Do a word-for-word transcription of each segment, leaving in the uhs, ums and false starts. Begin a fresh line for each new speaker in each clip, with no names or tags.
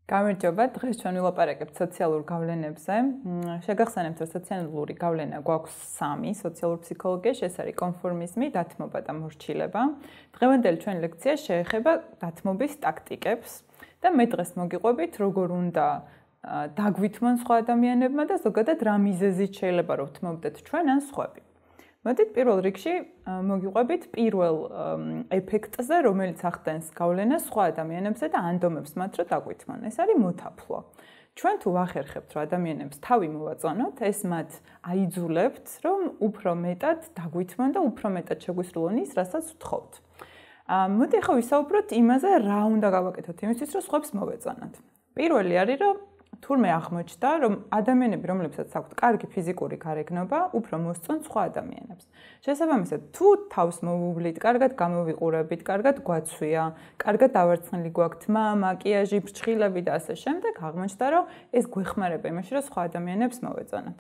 გამარჯობა, დღეს ჩვენ ვილაპარაკებთ სოციალურ გავლენებზე. შეგახსენებთ, რომ სოციალური გავლენა გვაქვს სამი: სოციალური ფსიქოლოგია, ეს არის კონფორმიზმი, დათმობა და მორჩილება. დღევანდელი ჩვენი ლექცია შეეხება დათმობის ტაქტიკებს და მე დღეს მოგიყვებით, როგორ უნდა დაგვითმონ სხვა ადამიანებმა და ზოგადად რა მიზეზით შეიძლება რომ ვთმობდეთ ჩვენ ან სხვები. მოდით პირველ რიგში მოგიყვებით პირველ ეფექტზე, რომელიც ახდენს გავლენას სხვა ადამიანებზე და ანდომებს მათ, რომ დაგვითმონ. ეს არის მოთაფლო. ჩვენ თუ ვახერხებთ, რომ ადამიანებს თავი მოვაწონოთ, ეს მათ აიძულებთ, რომ უფრო მეტად დაგვითმონ და უფრო მეტად შეგვისრულონ ის, რასაც ვთხოვთ. მოდი ახლა ვისაუბროთ იმაზე, რა უნდა გავაკეთოთ იმისთვის, რომ სხვებს მოვეწონოთ. პირველი არის, რომ თურმე აღმოჩნდა, რომ ადამიანები, რომლებსაც აქვთ კარგი ფიზიკური გარეგნობა, უფრო მოსწონთ სხვა ადამიანებს. შესაბამისად, თუ თავს მოვუვლით, კარგად გამოვიყურებით, კარგად გვაცვია, კარგად დავარცხნილი გვაქვთ თმა, მაკიაჟი, ფრჩხილები და ასე შემდეგ, აღმოჩნდა, რომ ეს გვეხმარება იმაში, რომ სხვა ადამიანებს მოვეწონოთ.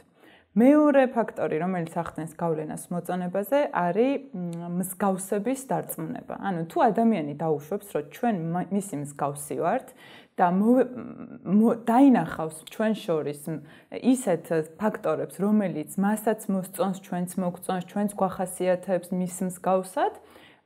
მეორე ფაქტორი, რომელიც ახდენს გავლენას მოწონებაზე, არის მსგავსების დარწმუნება. ანუ თუ ადამიანი დაუშვებს, რომ ჩვენ მისი მსგავსი ვართ და დაინახავს ჩვენ შორის ისეთ ფაქტორებს, რომელიც მასაც მოსწონს, ჩვენც მოგწონს, ჩვენც გვახასიათებს მის მსგავსად,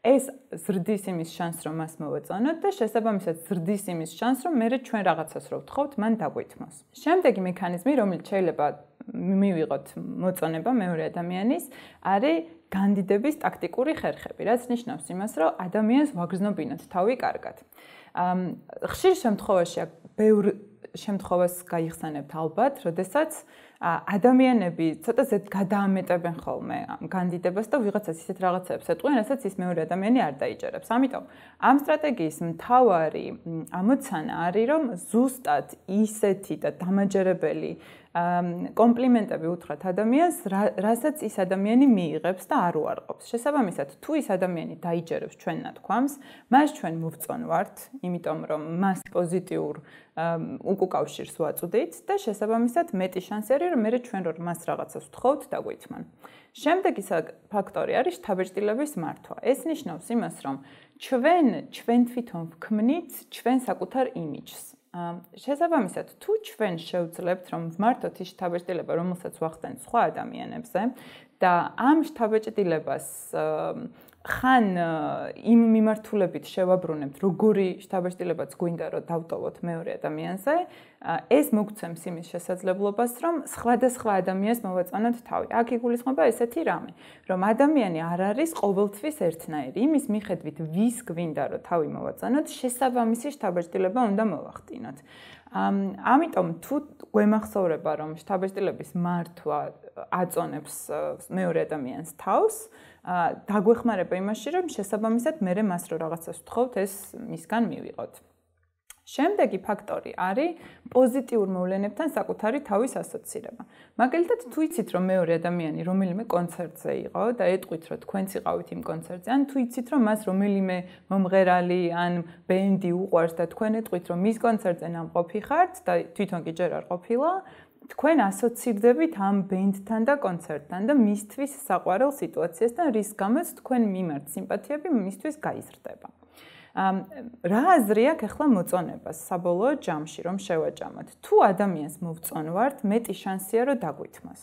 ეს ზრდის იმის შანსს, რომ მას მოვეწონოთ და შესაბამისად ზრდის იმის შანსს, რომ მერე ჩვენ რაღაცას რო ვთხოვთ, მან დაგვითმოს. შემდეგი მექანიზმი, რომელიც შეიძლება მივიღოთ მოწონება მეორე ადამიანის, არის განდიდების ტაქტიკური ხერხები, რაც ნიშნავს იმას, რომ ადამიანს ვაგრძნობინოთ თავი კარგად. ხშირ შემთხვევაში ბევრ შემთხვევას გაიხსენებთ ალბათ, როდესაც ადამიანები ცოტა ზედ გადაამეტებენ ხოლმე განდიდებას და ვიღაცას ისეთ რაღაცებს ეტყვიან, რასაც ის მეორე ადამიანი არ დაიჯერებს. ამიტომ ამ სტრატეგიის მთავარი ამოცანა არის, რომ ზუსტად ისეთი და დამაჯერებელი კომპლიმენტები უთხრათ ადამიანს, რასაც ის ადამიანი მიიღებს და არ უარყოფს. შესაბამისად, თუ ის ადამიანი დაიჯერებს ჩვენ ნათქვამს, მას ჩვენ მოვწონვართ, იმიტომ რომ მას პოზიტიურ უკუკავშირს ვაწვდით და შესაბამისად მეტი შანსი არის, რომ მერე ჩვენ რომ მას რაღაცას ვთხოვთ, დაგვითმონ. შემდეგი ფაქტორი არის შთაბეჭდილების მართვა. ეს ნიშნავს იმას, რომ ჩვენ ჩვენ თვითონ ვქმნით ჩვენ საკუთარ იმიჯს. შესაბამისად, თუ ჩვენ შევძლებთ, რომ ვმართოთ ის შთაბეჭდილება, რომელსაც ვახდენთ სხვა ადამიანებზე და ამ შთაბეჭდილებას ხან იმ მიმართულებით შევაბრუნებთ, როგორი შთაბეჭდილებაც გვინდა, რომ დავტოვოთ მეორე ადამიანზე, ეს მოგცემს იმის შესაძლებლობას, რომ სხვადასხვა ადამიანს მოვეწონოთ თავი. აქ იგულისხმება ესეთი რამე, რომ ადამიანი არ არის ყოველთვის ერთნაირი. იმის მიხედვით, ვის გვინდა, რომ თავი მოვაწონოთ, შესაბამისი შთაბეჭდილება უნდა მოვახდინოთ. ამიტომ თუ გვემახსოვრება, რომ შთაბეჭდილების მართვა აწონებს მეორე ადამიანს თავს, დაგვეხმარება იმაში, რომ შესაბამისად მერე მას რო რაღაცას ვთხოვთ, ეს მისგან მივიღოთ. შემდეგი ფაქტორი არის პოზიტიურ მოვლენებთან საკუთარი თავის ასოცირება. მაგალითად, თუ იცით, რომ მეორე ადამიანი რომელიმე კონცერტზე იყო და ეტყვით, რომ თქვენც იყავით იმ კონცერტზე, ან თუ იცით, რომ მას რომელიმე მომღერალი ან ბენდი უყვარს და თქვენ ეტყვით, რომ მის კონცერტზე ნამყოფი ხართ და თვითონ კი ჯერ არ ყოფილა, თქვენ ასოცირდებით ამ ბენდთან და კონცერტთან და მისთვის საყვარელ სიტუაციასთან, რის გამოც თქვენ მიმართ სიმპათიები მისთვის გაიზრდება. რა აზრი აქვს ახლა მოწონებას საბოლოო ჯამში, რომ შევაჯამოთ? თუ ადამიანს მოვწონვართ, მეტი შანსია, რომ დაგვითმოს.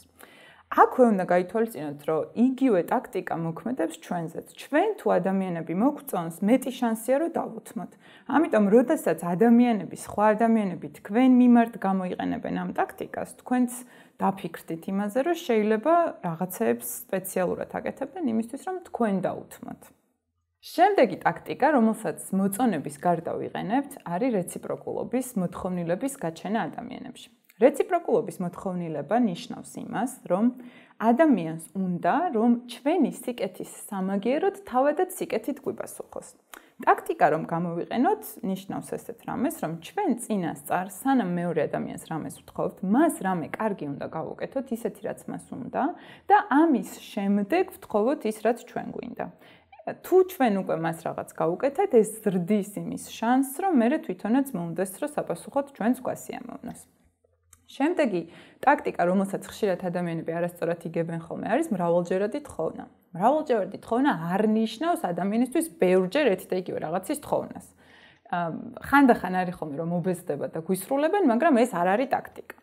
აქვე უნდა გაითვალისწინოთ, რომ იგივე ტაქტიკა მოქმედებს ჩვენზეც. ჩვენ თუ ადამიანები მოგწონს, მეტი შანსია, რომ დავუთმოთ. ამიტომ, როდესაც ადამიანები, სხვა ადამიანები თქვენ მიმართ გამოიყენებენ ამ ტაქტიკას, თქვენც დაფიქრდით იმაზე, რომ შეიძლება რაღაცეებს სპეციალურად აკეთებდნენ იმისთვის, რომ თქვენ დაუთმოთ. შემდეგი ტაქტიკა, რომელსაც მოწონების გარდა ვიყენებთ, არის რეციპროკულობის მოთხოვნილების გაჩენა ადამიანებში. რეციპროკულობის მოთხოვნილება ნიშნავს იმას, რომ ადამიანს უნდა, რომ ჩვენი სიკეთის სამაგიეროდ თავადაც სიკეთით გვიპასუხოს. ტაქტიკა რომ გამოვიყენოთ, ნიშნავს ესეთ რამეს, რომ ჩვენ წინასწარ, სანამ მეორე ადამიანს რამეს ვთხოვთ, მას რამე კარგი უნდა გავუკეთოთ, ისეთი რაც მას უნდა და ამის შემდეგ ვთხოვოთ ის, რაც ჩვენ გვინდა. თუ ჩვენ უკვე მას რაღაც გავუკეთეთ, ეს ზრდის იმის შანსს, რომ მერე თვითონაც მომდეს, რომ საპასუხოდ ჩვენს გვასიამოვნოს. შემდეგი ტაქტიკა, რომელსაც ხშირად ადამიანები არასწორად იგებენ ხოლმე, არის მრავალჯერადი თხოვნა. მრავალჯერადი თხოვნა არ ნიშნავს ადამიანისთვის ბევრჯერ ერთი და იგივე რაღაცის თხოვნას. ხანდახან არის ხოლმე რომ მობეზდება და გვისრულებენ, მაგრამ ეს არ არის ტაქტიკა.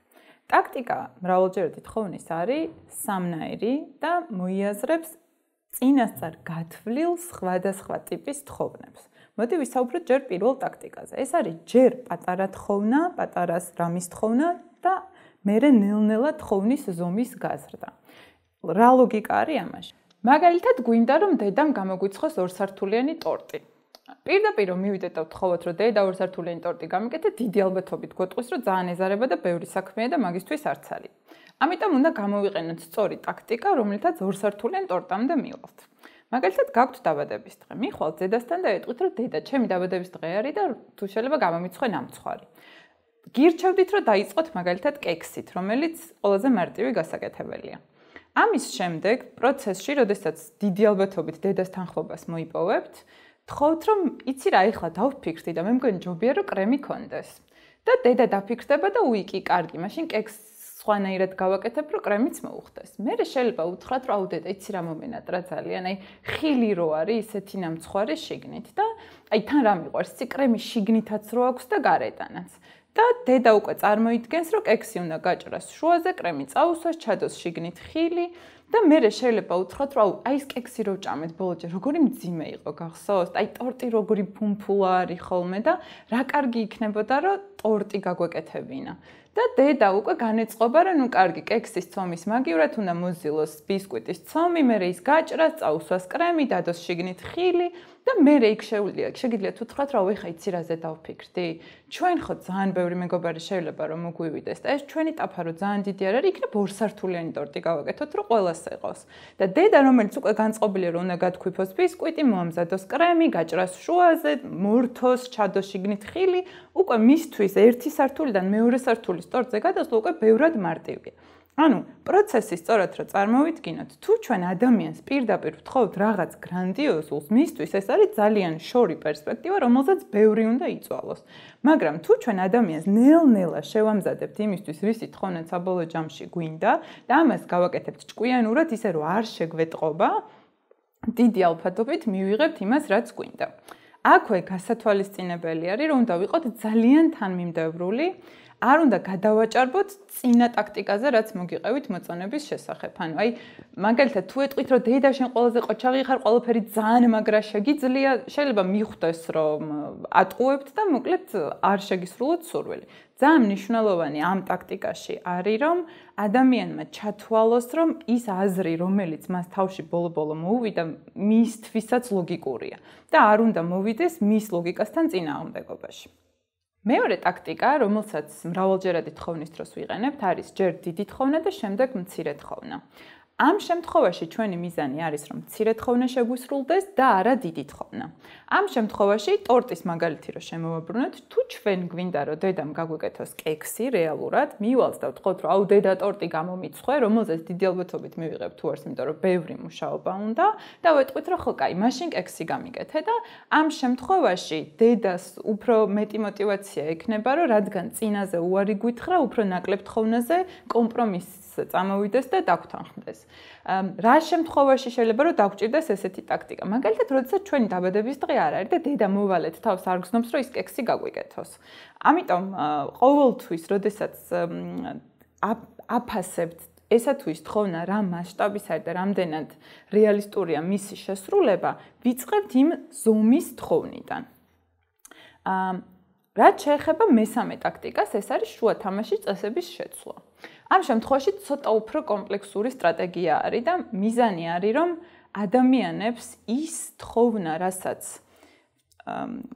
ტაქტიკა მრავალჯერ თხოვნის არის სამნაირი და მოიაზრებს წინასწარ გათვლილ სხვადასხვა ტიპის თხოვნებს. მოდი ვისაუბროთ ჯერ პირველ ტაქტიკაზე. ეს არის ჯერ პატარა თხოვნა, პატარას რამის თხოვნა და მერე ნელ-ნელა თხოვნის ზომის გაზრდა. რა ლოგიკა არის ამაში? მაგალითად, გვინდა რომ დედამ გამოგვიცხოს ორსართულიანი ტორტი. პირდაპირ რომ მივიდეთ და ვთხოვოთ, რომ დედა ორსართულიანი ტორტი გამიკეთეთ, დიდი ალბათობით გვეტყვის, რომ ძალიან ეზარება და ბევრი საქმეა და მაგისთვის არც არის. ამიტომ უნდა გამოვიყენოთ სწორი ტაქტიკა, რომლითაც ორსართულიან ტორტამდე მივალთ. მაგალითად, გაქვთ დაბადების დღე. მიხვალთ დედასთან და ეტყვით, რომ დედა, ჩემი დაბადების დღე არის და თუ შეიძლება გამომიცხე ნამცხვარი. გირჩევდით, რომ დაიწყოთ მაგალითად კექსით, რომელიც ყველაზე მარტივი გასაკეთებელია. ამის შემდეგ პროცესში, როდესაც დიდი ალბათობით დედას თანხმობას მოიპოვებთ, თხოვთ, რომ იცი რა, ეხლა დავფიქრდი და მე მგონი ჯობია, რომ კრემი კონდეს. და დედა დაფიქრდება და უიკი, კარგი, მაშინ კექს სხვანაირად გავაკეთებ, რომ კრემიც მოუხდეს. მე შეიძლება უთხრათ, რომ აუ დედა, იცი რა მომენატრა ძალიან, აი ხილი რო არის, ისეთი ნამცხვარი შიგნით და აი თან რა მიყვარს, იცი კრემი შიგნითაც რო აქვს და გარედანაც. და დედა უკვე წარმოიდგენს, რომ კექსი უნდა გაჭრას შუაზე, კრემი წაუსვას, ჩადოს შიგნით ხილი და მე შეიძლება უთხრათ, რომ აუ აი ეს კექსი რო ჭამეთ ბოლოჯერ, როგორი მძიმე იყო, გახსოვთ? აი ტორტი როგორი ფუმფულა არის ხოლმე და რა კარგი იქნებოდა, რომ ტორტი გაგვეკეთებინა. და დედა უკვე განეწყობა, რომ ნუ კარგი, კექსის ცომის მაგივრად უნდა მოზილოს ბისკვიტის ცომი, მერე ის გაჭრას, წაუსვას კრემი, დადოს შიგნით ხილი და მერე იქ შეუძლია, შეგიძლიათ უთხრათ, რა ვიხა იცი რაზე დავფიქრდი? ჩვენ ხო ძალიან ბევრი მეგობარი შეიძლება რომ მოგვივიდეს და ეს ჩვენი ტაფა რო ძალიან დიდი არ არის, იქნებ ორსართულიანი ტორტი გავაკეთოთ, რომ ყველას ეყოს. და დედა, რომელიც უკვე განწყობილია, რომ უნდა გათქვიფოს ბისკვიტი, მოამზადოს კრემი, გაჭრას შუაზე, მორთოს, ჩადოს შიგნით ხილი, უკვე მისთვის ერთი სართულიდან მეორე სართულის ტორტზე გადასვლა უკვე ბევრად მარტივია. ანუ პროცესი სწორად რო წარმოვიდგინოთ, თუ ჩვენ ადამიანს პირდაპირ ვთხოვთ რაღაც გრანდიოზულს, მისთვის ეს არის ძალიან შორი პერსპექტივა, რომელზეც ბევრი უნდა იწვალოს. მაგრამ თუ ჩვენ ადამიანს ნელ-ნელა შევამზადებთ იმისთვის, რისი თხოვნა საბოლოო ჯამში გვინდა და ამას გავაკეთებთ ჭკვიანურად, ისე რომ არ შეგვეტყობა, დიდი ალბათობით მივიღებთ იმას, რაც გვინდა. აქვე გასათვალისწინებელი არის, რომ უნდა ვიყოთ ძალიან თანმიმდევრული, არ უნდა გადავაჭარბოთ წინა ტაქტიკაზე, რაც მოგიყევით მოწონების შესახებ. ანუ აი მაგალითად თუ ეტყვით, რომ დედა შენ ყველაზე ყოჩაღი ხარ, ყველაფერი ძალიან მაგრა შეგიძლია, შეიძლება მიხვდეს, რომ ატყუებთ და მოკლედ არ შეგისრულოთ სურვილი. ძალიან მნიშვნელოვანი ამ ტაქტიკაში არის, რომ ადამიანმა ჩათვალოს, რომ ის აზრი, რომელიც მას თავში ბოლო-ბოლო მოუვიდა, მისთვისაც ლოგიკურია და არ უნდა მოვიდეს მის ლოგიკასთან წინააღმდეგობაში. მეორე ტაქტიკა, რომელსაც მრავალჯერადი თხოვნის დროს ვიყენებთ, არის ჯერ დიდი თხოვნა და შემდეგ მცირე თხოვნა. ამ შემთხვევაში ჩვენი მიზანი არის, რომ მცირე თხოვნა შეგვისრულდეს და არა დიდი თხოვნა. ამ შემთხვევაში ტორტის მაგალითი რო შემოვაბრუნოთ, თუ ჩვენ გვინდა, რომ დედამ გაგვეკეთოს კექსი რეალურად, მივალთ და ვთქვათ, რომ აუ დედა ტორტი გამომიცხე, რომელზეც დიდი ალბათობით მივიღებ თუ არს, იმიტომ რომ ბევრი მუშაობა უნდა და ვეტყვით, რომ ხო, კაი, მაშინ კექსი გამიკეთე და ამ შემთხვევაში დედას უფრო მეტი мотиваცია ექნება, რომ რადგან წინაზე უარი გვითხრა, უფრო ნაკლებ თოვნაზე კომპრომისს წამოვიდეს და დაგთანხმდეს. რა შემთხვევაში შეიძლება რომ დაგჭირდეს ესეთი ტაქტიკა? მაგალითად, როდესაც ჩვენი დაბადების დღე არ არის და დედა მოვალეთ თავს არ გზნობს, რომ ის კექსი გაგვიკეთოს. ამიტომ ყოველთვის, როდესაც აფასებთ ესა თუ ის თხოვნა რა მასშტაბის არის და რამდენად რეალისტურია მისი შესრულება, ვიწყებთ იმ ზომის თხოვნიდან. რაც შეეხება მესამე ტაქტიკას, ეს არის შუა თამაშის წესების შეცვლა. ამ შემთხვევაში ცოტა უფრო კომპლექსური სტრატეგია არის და მიზანი არის, რომ ადამიანებს ის თხოვნა, რასაც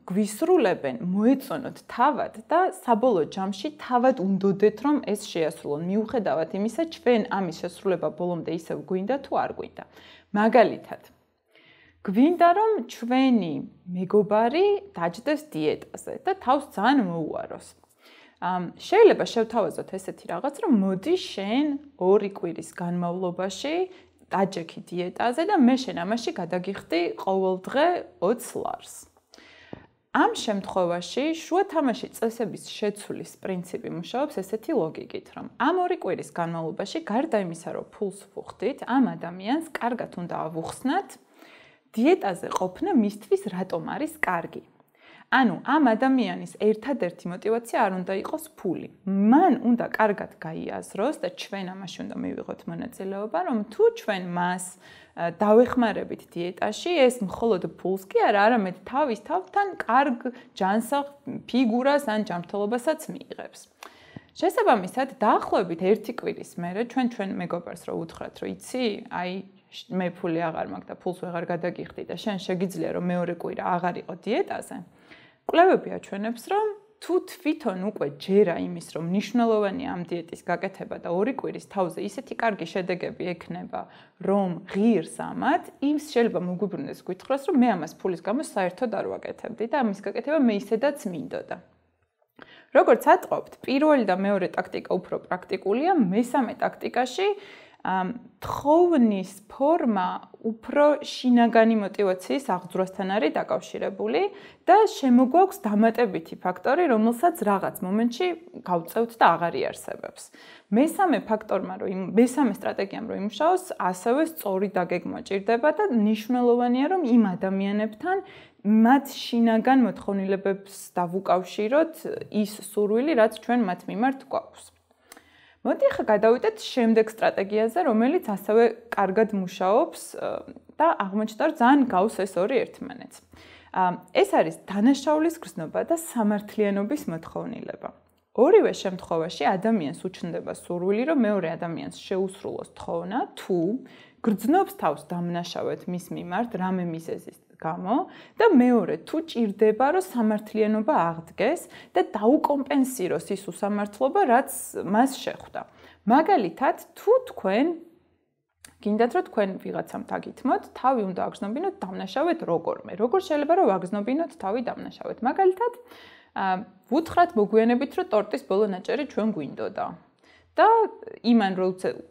გვისრულებენ, მოეწონოთ თავად და საბოლოო ჯამში თავად უნდოდეთ, რომ ეს შეასრულონ. მიუხედავად იმისა, ჩვენ ამის შესრულება ბოლომდე ისევ გვინდა თუ არ გვინდა. მაგალითად, გვინდა რომ ჩვენი მეგობარი დაჯდეს დიეტაზე და თავს ძალიან მოუაროს. შეიძლება შევთავაზოთ ესეთი რაღაც, რომ მოდი შენ ორი კვირის განმავლობაში დაჯექი დიეტაზე და მე შენ ამაში გადაგიხდი ყოველდღე ოცს ლარს. ამ შემთხვევაში შუა თამაში წესების შეცვლის პრინციპი მუშაობს ესეთი ლოგიკით, რომ ამ ორი კვირის განმავლობაში გარდა იმისა, რომ ფულს ვუხდით, ამ ადამიანს კარგად უნდა ავუხსნათ დიეტაზე ყოფნა მისთვის რატომ არის კარგი. ანუ ამ ადამიანის ერთადერთი მოტივაცია არ უნდა იყოს ფული. მან უნდა კარგად გაიაზროს და ჩვენ ამაში უნდა მივიღოთ მონაწილეობა, რომ თუ ჩვენ მას დავეხმარებით დიეტაში, ეს მხოლოდ ფულს კი არა, არამედ თავის თავთან კარგ ჯანსაღ ფიგურას ან ჯანმრთელობასაც მიიღებს. შესაბამისად, დაახლოებით ერთი კვირის მერე ჩვენ ჩვენ მეგობარს რო უთხრათ, რომ იცი, აი მე ფული აღარ მაქვს და ფულს ვეღარ გადაგიხდი და შენ შეგიძლია რომ მეორე კვირა აღარ იყო დიეტაზე. კვლევები აჩვენებს, რომ თუ თვითონ უკვე ჯერა იმის, რომ მნიშვნელოვანია ამ დიეტის გაკეთება და ორი კვირის თავზე ისეთი კარგი შედეგები ექნება, რომ ღირს ამათ, ის შეიძლება მოგვიბრუნდეს გითხრას, რომ მე ამას ფულის გამო საერთოდ არ ვაკეთებდი და ამის გაკეთება მე ისედაც მინდოდა. როგორც ატყობთ, პირველი და მეორე ტაქტიკა უფრო პრაქტიკულია, მესამე ტაქტიკაში თხოვნის ფორმა უფრო შინაგანი მოტივაციის აღძვრასთან არის დაკავშირებული და შემოგვაქვს დამატებითი ფაქტორი, რომელსაც რაღაც მომენტში გავწევთ და აღარ იარსებებს. მესამე ფაქტორმა, რომ მესამე სტრატეგიამ რომ იმუშაოს, ასევე სწორი დაგეგმვა ჭირდება და მნიშვნელოვანია, რომ იმ ადამიანებთან მათ შინაგან მოთხოვნილებებს დავუკავშიროთ ის სურვილი, რაც ჩვენ მათ მიმართ გვაქვს. მოდი ახლა გადავიდეთ შემდეგ სტრატეგიაზე, რომელიც ასევე კარგად მუშაობს და აღმოჩნდა, რომ ძალიან გავს ეს ორი ერთმანეთს. ეს არის დანაშაულის გრძნობა და სამართლიანობის მოთხოვნილება. ორივე შემთხვევაში ადამიანს უჩნდება სურვილი, რომ მეორე ადამიანს შეუსრულოს თხოვნა, თუ გრძნობს თავს დამნაშავედ მის მიმართ რამე მიზეზის გამო და მეორე თუ ჭირდება რომ სამართლიანობა აღდგეს და დაუკომპენსიროს ის უსამართლობა რაც მას შეხვდა. მაგალითად თუ თქვენ გინდათ რომ თქვენ ვიღაცამ დაგითმოთ, თავი უნდა აგზნობინოთ დამნაშავედ როგორმე. როგორ შეიძლება რომ ვაგზნობინოთ თავი დამნაშავედ? მაგალითად ვუთხრათ მოგვიანებით რომ ტორტის ბოლო ნაჭერი ჩვენ გვინდოდა. და იმან რო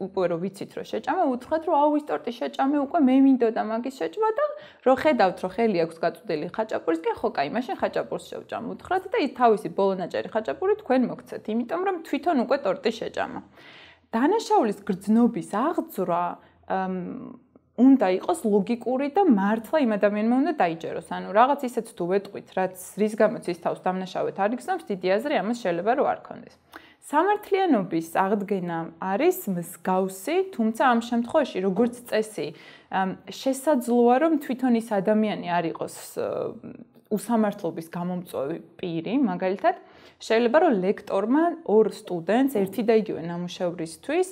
უკვე რო ვიცით რომ შეჭამა, უთხრათ რომ აუ ის ტორტის შეჭამე უკვე მე მინდოდა მაგის შეჭმა და რო ხედავთ რომ ხელი აქვს გაწუდილი ხაჭაპურისკენ, ხო კაი, მაშინ ხაჭაპურს შევჭამ, უთხრათ და ის თავისი ბოლონაჭერი ხაჭაპური თქვენ მოგცეთ, იმიტომ რომ თვითონ უკვე ტორტი შეჭამა. დანაშაულის გრძნობის აღძვრა უნდა იყოს ლოგიკური და მართლა იმ ადამიანმა უნდა დაიჯეროს. ანუ რაღაც ისეთ თუ ვეტყვით, რაც რის გამოც ის თავს დამნაშავედ არ იგრძნობს, დიდი აზრი ამას შეიძლება რომ არ ქონდეს. სამართლიანობის აღდგენა არის მსგავსი, თუმცა ამ შემთხვევაში როგორც წესი, შესაძლოა რომ თვითონ ის ადამიანი არ იყოს უსამართლობის გამომწვევი პირი, მაგალითად, შეიძლება რომ ლექტორმა ორ სტუდენტს ერთი და იგივე ნამუშევრისთვის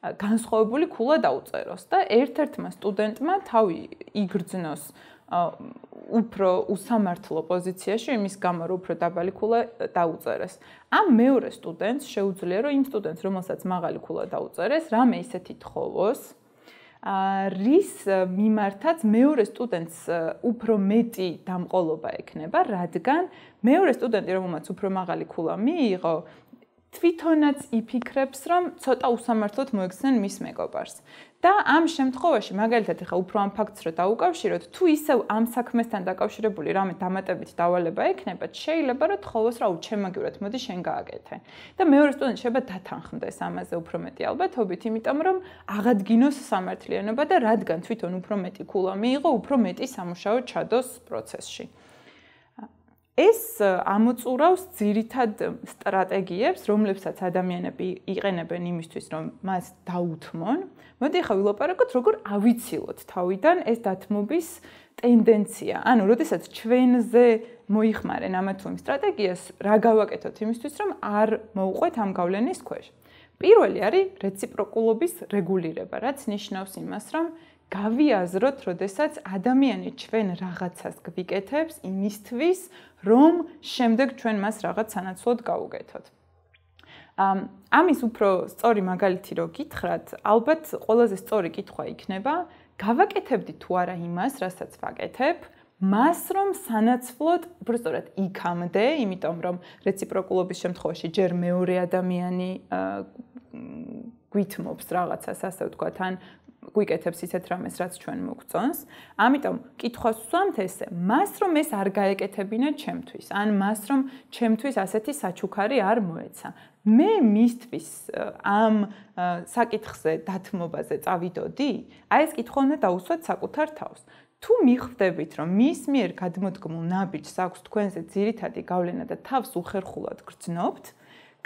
განსხვავებული ქულა დაუწეროს და ერთ-ერთმა სტუდენტმა თავი იგრძნოს უფრო უსამართლო პოზიციაში იმის გამო რომ უფრო დაბალი ქულა დაუწერეს. ამ მეორე სტუდენტს შეუძლია რომ იმ სტუდენტს რომელსაც მაღალი ქულა დაუწერეს, რამე ისეთი თხოვოს, რის მიმართაც მეორე სტუდენტს უფრო მეტი დამყოლობა ექნება, რადგან მეორე სტუდენტი რომელმაც უფრო მაღალი ქულა მიიღო, თვითონაც იფიქრებს, რომ ცოტა უსამართლოდ მოექცნენ მის მეგობარს. და ამ შემთხვევაში, მაგალითად, ახლა უფრო ამ ფაქტს რო დაუკავშიროთ, თუ ისევ ამ საქმესთან დაკავშირებული რამე დამატებით დავალება ექნება, შეიძლება რომ თხოვოს, რა უჩემაგივრად, მოდი შენ გააკეთე. და მეორე სტუდენტი შეიძლება დათანხმდეს ამაზე უფრო მეტი ალბათობით, იმიტომ რომ აღადგინოს სამართლიანობა და რადგან თვითონ უფრო მეტი ქულა მიიღო, უფრო მეტი სამუშაო ჩადოს პროცესში. ეს ამოწურავს ძირითად სტრატეგიებს, რომლებსაც ადამიანები იყენებენ იმისთვის, რომ მას დაუთმონ. მოდი ახლა ვილაპარაკოთ, როგორ ავიცილოთ თავიდან ეს დათმობის ტენდენცია. ანუ, როდესაც ჩვენზე მოიხმარენ ამა თუ იმ სტრატეგიას, რა გავაკეთოთ იმისთვის, რომ არ მოუყვეთ ამ გავლენის ქვეშ. პირველი არის რეციპროკულობის რეგულირება, რაც ნიშნავს იმას, რომ გავიაზროთ, როდესაც ადამიანი ჩვენ რაღაცას გვიკეთებს იმისთვის, რომ შემდეგ ჩვენ მას რაღაც სანაცვლოდ გავუკეთოთ. ამის უფრო სწორი მაგალითი რო გითხრათ, ალბათ ყველაზე სწორი კითხვა იქნება, გავაკეთებდი თუ არა იმას, რასაც ვაკეთებ, მას რომ სანაცვლოდ, უბრალოდ იქამდე, იმიტომ რომ რეციპროკულობის შემთხვევაში ჯერ მეორე ადამიანი გვითმობს რაღაცას, ასე ვთქვათ, ან გვიკეთებს ისეთ რამეს, რაც ჩვენ მოგწონს. ამიტომ კითხვას ვსვამთ ესე, მას რომ ეს არ გაეკეთებინა ჩემთვის, ან მას რომ ჩემთვის ასეთი საჩუქარი არ მოეცა. მე მისთვის ამ საკითხზე დათმობაზე წავიდოდი? აი ეს კითხვა უნდა დაუსვათ საკუთარ თავს. თუ მიხვდებით, რომ მის მიერ გადმოდგმულ ნაბიჯს აქვს თქვენზე ძირითადი გავლენა და თავს უხერხულად გრძნობთ,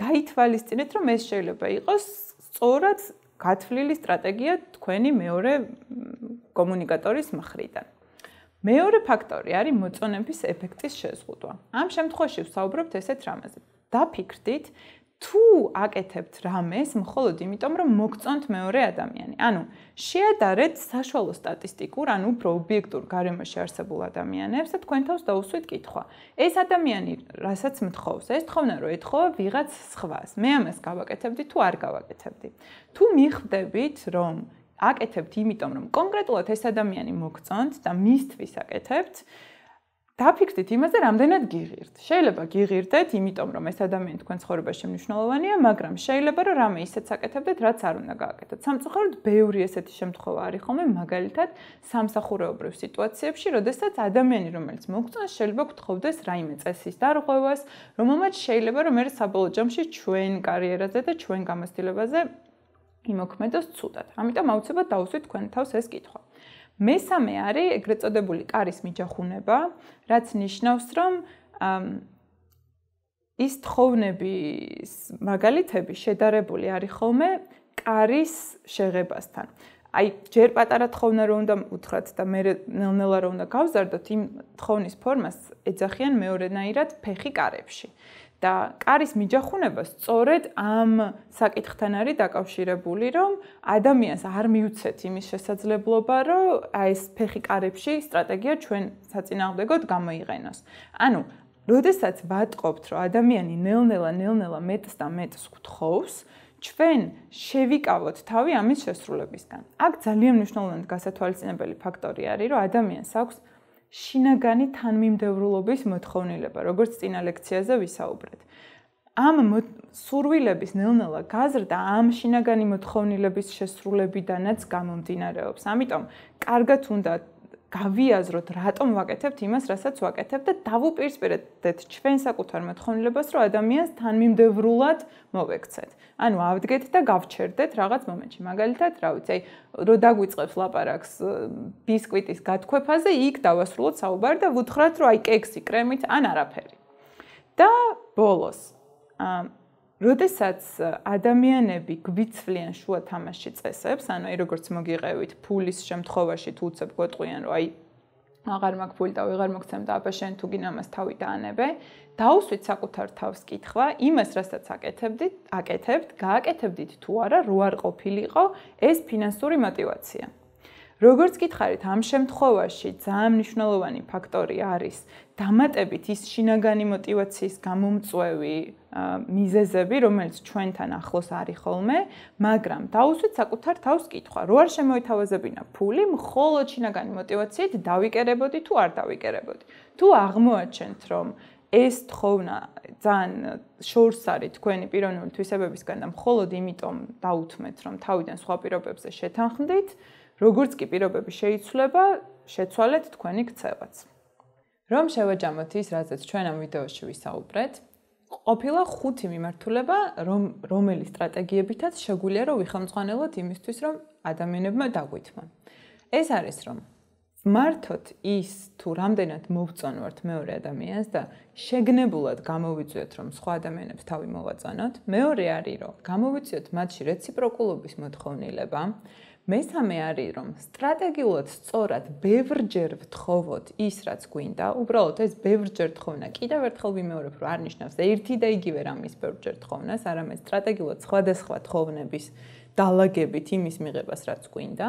გაითვალისწინეთ, რომ ეს შეიძლება იყოს სწორად გათვლილი სტრატეგია თქვენი მეორე კომუნიკატორის მხრიდან. მეორე ფაქტორი არის მოწონების ეფექტის შეზღუდვა. ამ შემთხვევაში ვსაუბრობთ ესეთ რამაზე. დაფიქრდით, თუ აკეთებთ რამეს მხოლოდ იმიტომ, რომ მოგწონთ მეორე ადამიანი. ანუ შეადარეთ საშუალო სტატისტიკურ, ანუ უფრო ობიექტურ გარემოში არსებულ ადამიანებს და თქვენ თავს დაუსვით კითხვა. ეს ადამიანი რასაც მთხოვს, ეს თხოვნა რომ ეთხოვა ვიღაც სხვას. მე ამას გავაკეთებდი თუ არ გავაკეთებდი. თუ მიხვდებით, რომ აკეთებთ იმიტომ, რომ კონკრეტულად ეს ადამიანი მოგწონთ და მისთვის აკეთებთ, დაფიქრდით იმაზე, რამდენად გიღირთ. შეიძლება გიღირდეთ, იმიტომ რომ ეს ადამიანი თქვენ ცხოვრებაში მნიშვნელოვანია, მაგრამ შეიძლება რომ რამე ისეც აკეთებდეთ, რაც არ უნდა გააკეთოთ. სამწუხაროდ, ბევრი ესეთი შემთხვევა არის ხოლმე, მაგალითად, სამსახურეობრივ სიტუაციებში, როდესაც ადამიანი, რომელიც მოგწონს, შეიძლება გთხოვდეს რაიმე წესის დარღვევას, რომელმაც შეიძლება რომ მე საბოლოო ჯამში ჩვენ კარიერაზე და ჩვენ გამოცდილებაზე იმოქმედოს ცუდად. ამიტომ აუცილებლად დავუსვით თქვენ თავს ეს კითხვა. მესამე არის ეგრეთ წოდებული კარის მიჯახუნება, რაც ნიშნავს, რომ ის თხოვნების მაგალითები შედარებული არის ხოლმე კარის შეღებასთან. აი, ჯერ პატარა თხოვნა რო უნდა უთხრათ და მე ნელ-ნელა რო უნდა გავზარდოთ, იმ თხოვნის ფორმას ეძახიან მეორენაირად ფეხი კარებში. და კარის მიჯახუნება სწორედ ამ საკითხთან არის დაკავშირებული, რომ ადამიანს არ მიუცეთ იმის შესაძლებლობა, რომ აი ეს ფეხი კარებში სტრატეგია ჩვენ საწინააღმდეგოდ გამოიყენოს. ანუ, როდესაც ვატყობთ, რომ ადამიანი ნელ-ნელა, ნელ-ნელა მეტს და მეტს გთხოვს, ჩვენ შევიკავოთ თავი ამის შესრულებისგან. აქ ძალიან მნიშვნელოვნად გასათვალისწინებელი ფაქტორი არის, რომ ადამიანს აქვს შინაგანი თანმიმდევრულობის მოთხოვნილება, როგორც წინა ლექციაზე ვისაუბრეთ. ამ სურვილების ნელ-ნელა გაზრდა ამ შინაგანი მოთხოვნილების შესრულებიდანაც გამომდინარეობს. ამიტომ კარგად უნდა გავიაზროთ, რატომ ვაკეთებთ იმას, რასაც ვაკეთებთ და დავუპირისპირდეთ ჩვენ საკუთარ მოთხოვნილებას, რომ ადამიანს თანმიმდევრულად მოვექცეთ. ანუ ავდგეთ და გავჩერდეთ რაღაც მომენტში. მაგალითად, რა ვიცი, აი, რო დაგვიწყებს ლაპარაკს ბისკვიტის გათქვეფაზე, იქ დავასრულოთ საუბარი და ვუთხრათ, რომ აი კექსი, კრემით, ან არაფერი. და ბოლოს, როდესაც ადამიანები გვიცვლიან შუა თამაში წესებს, ანუ აი როგორც მოგიყევით ფულის შემთხვევაში თუ უცებ გვეტყვიან, რომ აი აღარ მაქვს ფული და ვეღარ მოგცემ და აბა შენ თუ გინდა ამას თავი დაანებე, დაუსვით საკუთარ თავს კითხვა, იმას რასაც აკეთებდით, აკეთებთ, გააკეთებდით თუ არა, რო არ ყოფილიყო ეს ფინანსური мотиваცია. როგორც გითხარით, ამ შემთხვევაში ძალიან მნიშვნელოვანი ფაქტორი არის დამატებით ის შინაგანი мотиваციის გამომწვევი მიზეზები, რომელიც ჩვენთან ახლოს არის ხოლმე, მაგრამ დაუსვით საკუთარ თავს კითხვა, რო არ შემოითავაზებინა ფული, მხოლოდ შინაგანი мотиваციით დავიკერებოდი თუ არ დავიკერებოდი. თუ აღმოაჩენთ, რომ ეს თხოვნა ძალიან შორს არის თქვენი პიროვნული თვისებებისგან და მხოლოდ იმიტომ დაუთმეთ, რომ თავიდან სხვა პირობებზე შეთანხმდით, როგორც კი პირობები შეიცვლება, შეცვალეთ თქვენი ქცევაც. რომ შევაჯამოთ ის, რაზეც ჩვენ ამ ვიდეოში ვისაუბრეთ, ყოფილა ხუთი მიმართულება, რომ რომელი სტრატეგიებითაც შეგვიძლია რომ ვიხელმძღვანელოთ იმისთვის, რომ ადამიანებმა დაგვითმონ. ეს არის რომ მართოთ ის თუ რამდენად მოვწონვართ მეორე ადამიანს და შეგნებულად გამოვიწვიოთ, რომ სხვა ადამიანებს თავი მოვაწონოთ. მეორე არის რომ გამოვიწვიოთ მათში რეციპროკულობის მოთხოვნილება. მესამე არის რომ სტრატეგიულად სწორად ბევრჯერ ვთხოვოთ ის რაც გვინდა, უბრალოდ ეს ბევრჯერ თხოვნა კიდევ ერთხელ ვიმეორებ, რომ არ ნიშნავს ერთი და იგივე რამის ბევრჯერ თხოვნას, არამედ სტრატეგიულად სხვადასხვა თხოვნების დალაგებით იმის მიღებას რაც გვინდა.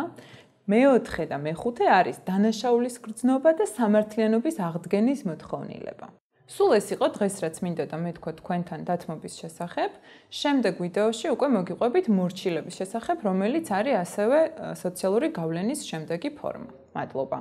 მეოთხე და მეხუთე არის დანაშაულის გრძნობა და სამართლიანობის აღდგენის მოთხოვნილება. სულ ეს იყო დღეს რაც მინდოდა მეთქვა თქვენთან დათმობის შესახებ. შემდეგ ვიდეოში უკვე მოგიყვებით მორჩილების შესახებ, რომელიც არის ასევე სოციალური გავლენის შემდეგი ფორმა. მადლობა.